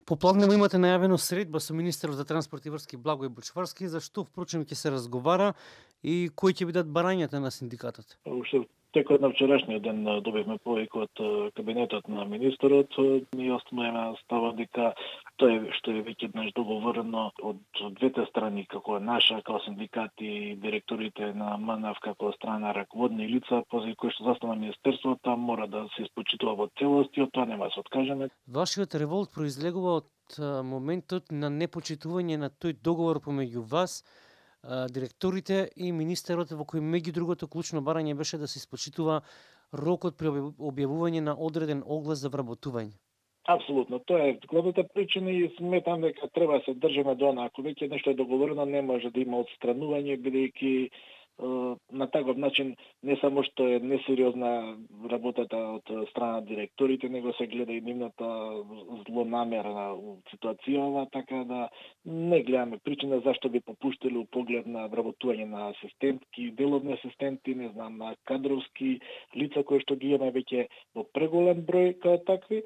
Попладнево имате најавено средба со министерот за транспорт и врски Благој Бучварски, за што впрочем ќе се разговара и кои ќе бидат барањата на синдикатот? Уште текот на вчерашниот ден добивме повика од кабинетот на министерот. Ние остануваме става дека тоа што е веќе еднаш договорено од двете страни, како наша, како синдикати и директорите на МНФ, како страна раководни лица, позади кои што застана министерството, мора да се испочитува во целост и од тоа нема да се откажеме. Вашиот револт произлегува од моментот на непочитување на тој договор помеѓу вас, директорите и министерот, во кој меѓу другото клучно барање беше да се испочитува рокот при објавување на одреден оглас за вработување. Апсолутно, тоа е главната причина и сметам дека треба да се држиме до она. Ако веќе нешто е договорено, не може да има отстранување, бидејќи на таков начин не само што е несериозна работата од страна директорите, него се гледа и нивната злонамерна ситуацијава, така да не гледаме причина зашто би попуштили у поглед на вработување на асистентки, деловни асистенти, не знам, на кадровски лица кои што ги имаме веќе во преголем број како такви.